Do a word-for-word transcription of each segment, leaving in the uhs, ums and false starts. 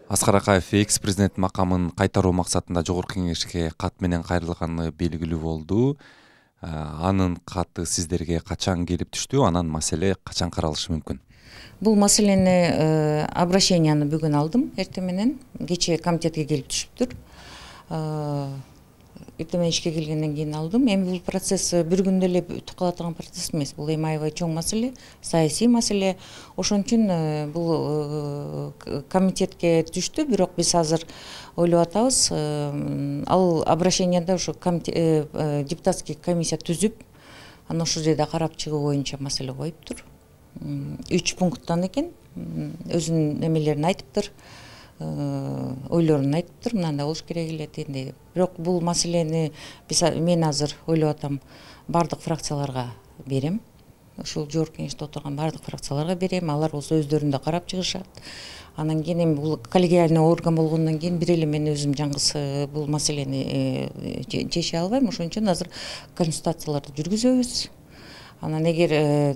Аскар Акаев экс президент макамын кайтаруу максатында Жогорку Кеңешке кат менен кайрылганы белгилүү болду. Анын каты сиздерге качан келип түштү? Анан маселе качан каралышы мүмкүн? Бул маселени обращенияны бүгүн алдым, эртең менен кечээ комитетке келип түшүптүр. Эртең менен ишке келгенден кийин алдым. Эми бул процесс бир күндө эле бүтүп кала турган процесс эмес. Бул эми аябай чоң маселе, саясий маселе. Ошон үчүн бул комитетке түштү, бирок биз азыр ойлоп атабыз. Ал обращенияда ошо депутатский комиссия түзүп, анан ошол жерде карап чыгуу боюнча маселе коюптур. Үч пункттан экен, өзүнүн эмелерин айтыптыр, ойлорун айтыптыр, мынандай болуш керек эле дегендей. Бирок бул маселени биз мен азыр ойлоп атам, бардык фракцияларга берем. Ушул Жогорку Кеңеште отурган бардык фракцияларга берем. Алар болсо өздөрүндө карап чыгышат. Анан кийин эми бул коллегиальный орган болгондон кийин бир эле мен өзүм жалгыз бул маселени чече албайм. Ошон үчүн азыр консультацияларды жүргүзөбүз. Анан эгер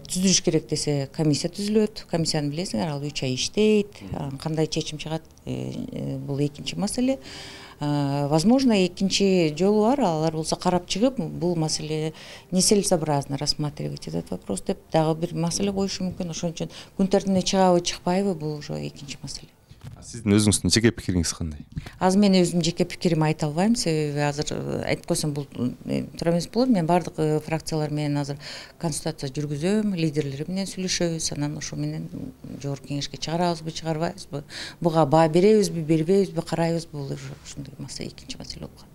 түзүлүш керек десе, комиссия түзүлөт. Комиссияны билесиңер, ал үч ай иштейт. Кандай чечим чыгат, бул экинчи маселе. Возможно, экинчи жолу бар, алар болсо карап чыгып, бул маселе нецелесообразно рассматривать этот вопрос деп дагы бир маселе коюшу мүмкүн. Ошон үчүн күн тартибине чыгабы, чыкпайбы, бул уже экинчи маселе. Сиздин өзүңүздүн жеке пикириңиз кандай? Азыр мен өзүм жеке пикиримди айта албайм, себеби азыр айтып койсом бул туура эмес болот. Мен бардык фракциялар менен азыр консультация жүргүзөм, лидерлери менен сүйлөшөбүз, анан ошо менен Жогорку Кеңешке чыгарабызбы, чыгарбайбызбы, буга баа беребизби, бербейбизби, карайбызбы, бул ушундай маселе, экинчи маселе болуп калат.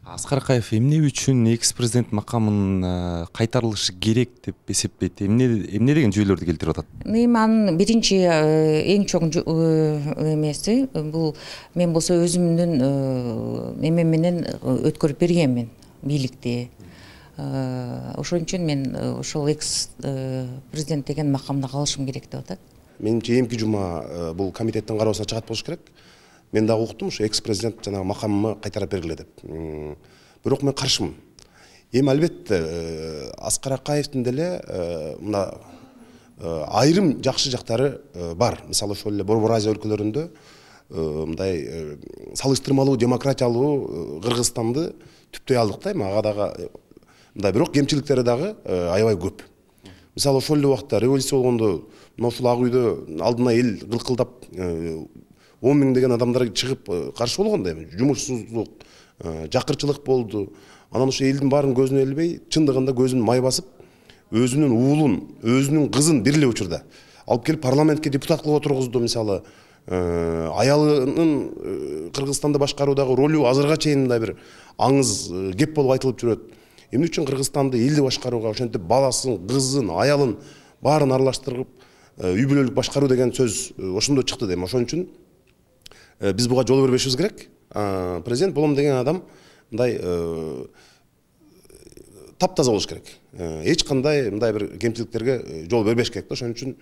Аскар Акаев эмне үчүн экс президент макамын кайтарылышы керек деп эсептейт? Эмне эмне деген жүйөлөрдү келтирип атат? Эми анын биринчи эң чоң эмеси бул мен болсо өзүмдүн эмем менен өткөрүп бергенмин бийликти. Ошон үчүн мен ошол экс президент деген макамда калышым керек деп атат. Менимче эмки жума бул комитеттин кароосуна чыгат болуш керек. Мен дагы уктум, ушу экс президент жанагы макамымы кайтарып бергиле деп. Бирок мен каршымын. Эми албетте Аскар Акаевдин деле мына айрым жакшы жактары бар. Мисалы ошол эле Борбор Азия өлкөлөрүндө мындай салыштырмалуу демократиялуу Кыргызстанды түптөй алдык да, эми ага дагы мындай бирок кемчиликтери дагы аябай көп. Мисалы ошол эле убакта революция болгондо мына ушул Ак үйдө алдына эл кылкылдап он миң деген адамдар чыгып каршы болгондо, эми жумушсуздук, жакырчылык болду. Анан ошо элдин баарын көзүнө илбей, чындыгында көзүн май басып, өзүнүн уулун, өзүнүн кызын бир эле учурда алып келип парламентке депутат кылып отургузду. Мисалы, аялынын Кыргызстанды башкаруудагы ролу азырга чейин мындай бир аңыз кеп болуп айтылып жүрөт. Эмне үчүн Кыргызстанды элди башкарууга ошентип баласын, кызын, аялын баарын аралаштырып, үй бүлөлүк башкаруу деген сөз ошондо чыкты дейм. Ошон үчүн биз буга жол бербешибиз керек. Президент болом деген адам мындай таптаза болуш керек. Эч кандай мындай бир кемчиликтерге жол бербеш керек да. Ошон үчүн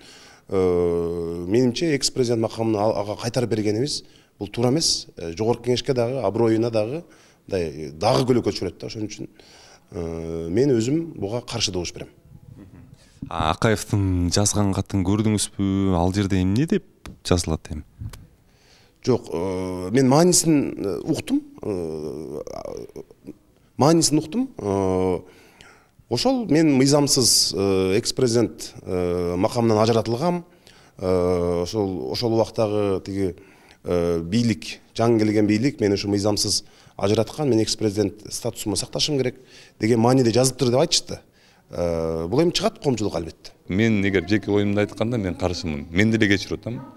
менимче экс президент макамын ага кайтарып бергенибиз бул туура эмес. Жогорку Кеңешке дагы, аброюна дагы мындай дагы көлөкө түшүрөт да. Ошон үчүн мен өзүм буга каршы добуш берем. Акаевдин жазган катын көрдүңүзбү? Ал жерде эмне деп жазылат эми? Жок, мен маанисин уктум. Маанисин уктум. Ошол мен мыйзамсыз экс президент макамынан ажыратылгам. Ошол ошол убактагы тиги бийлик, жаңы келген бийлик мени ушу мыйзамсыз ажыраткан, мен экс президент статусумду сакташым керек деген мааниде жазыптыр деп айтышты. Бул эми чыгат коомчулукка албетте. Мен эгер жеке оюмду айтканда мен каршымын. Мен деле кечирип атам.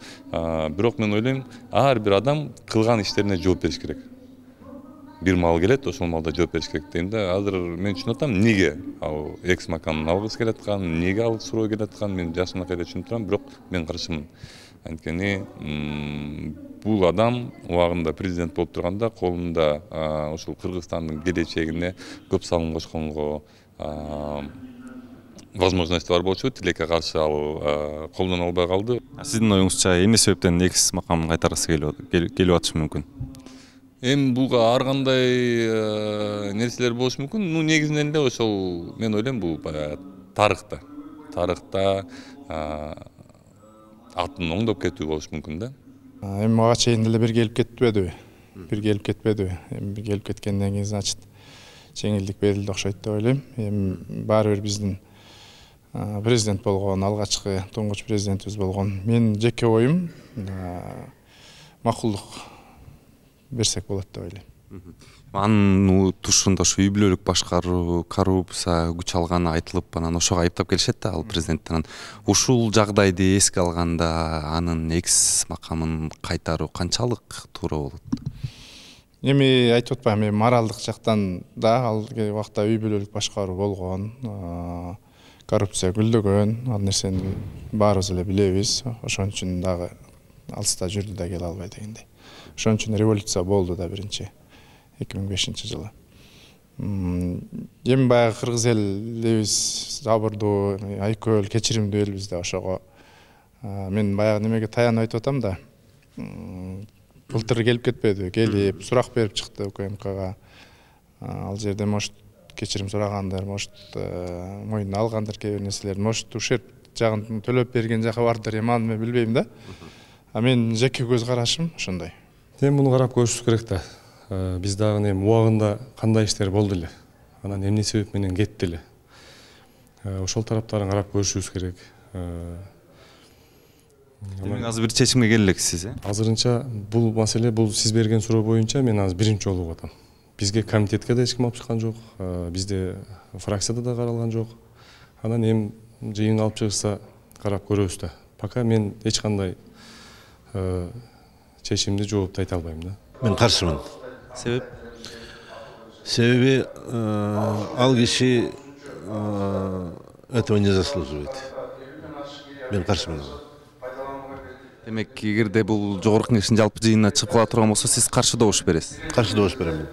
Бирок мен ойлойм, ар бир адам кылган иштерине жооп бериш керек. Бир мал келет, ошол малда жооп бериш керек дейм да. Азыр мен түшүнүп атам, эмнеге ал экс макамын алгысы келет аткан, эмнеге ал суроо келет аткан, мен жашынакай эле түшүнүп турам, бирок мен каршымын. Анткени бул адам убагында президент болуп турганда колунда ушул Кыргызстандын келечегине көп салым кошконго возможность бар болчу, тилекке каршы ал колдоно албай калды. Сиздин оюңузча эмне себептен экс макамын кайтаргысы келип атышы мүмкүн? Эми буга ар кандай нерселер болушу мүмкүн. Ну негизинен эле ошол мен ойлойм бул баягы тарыхта. Тарыхта атын оңдоп кетүү болушу мүмкүн да. Эми мага чейин деле бир келип кетпедиби? Бир келип кетпедиби? Эми келип кеткенден кийин значит жеңилдик берилди окшойт деп ойлойм. Эми баары бир биздин президент болгон, алгачкы туңгуч президентибиз болгон. Менин жеке оюм макулдук берсек болот деп ойлойм. Анын тушунда ушу үй бүлөлүк башкаруу, коррупция күч алганы айтылып, анан ошого айыптап келишет да ал президенттен. Ушул жагдайды эске алганда анын экс макамын кайтаруу канчалык туура болот? Эми айтып атпайм, эми моралдык жактан да ал убакта үй бүлөлүк башкаруу болгон, коррупция гүлдөгөн, ал нерсени баарыбыз эле билебиз. Ошон үчүн дагы алыста жүрдү да келе албай дегендей. Ошон үчүн революция болду да биринчи эки миң бешинчи жылы. Эми баягы кыргыз элибиз жабырдуу, айкөл, кечиримдүү элбиз да ошого. Мен баягы немеге таянып айтып атам да. Былтыр келип кетпеди, келип сурак берип чыкты УКМКга. Ал жерде может кечирим сурагандыр, может мойнуна алгандыр кээ бир нерселерди, может ушерп жагын төлөп берген жакы бардыр, эми аны мен билбейм да. А мен жеке көз карашым ошондой. Эми муну карап көрүшүбүз керек да. Биз дагы эми убагында кандай иштер болду эле, анан эмне себеп менен кетти эле. Ошол тараптарын карап көрүшүбүз керек. Демек азыр бир чечимге келе элексиз, э? Азырынча бул маселе, бул сиз берген суроо боюнча мен азыр биринчи жолу болуп атам. Бизге комитетке да эч ким алып чыккан жок, бизде фракцияда да каралган жок. Анан эми жыйын алып чыгышса карап көрөбүз да. Пока мен эч кандай чечимди жооптой айта албайм да. Мен каршымын. Себеп? Себеби ал киши этого не заслуживает. Мен каршымын. Демек, эгерде бул жогорку кеңештин жалпы жыйынына чыгып кала турган болсо, сиз каршы добуш бересиз? Каршы добуш берем мен.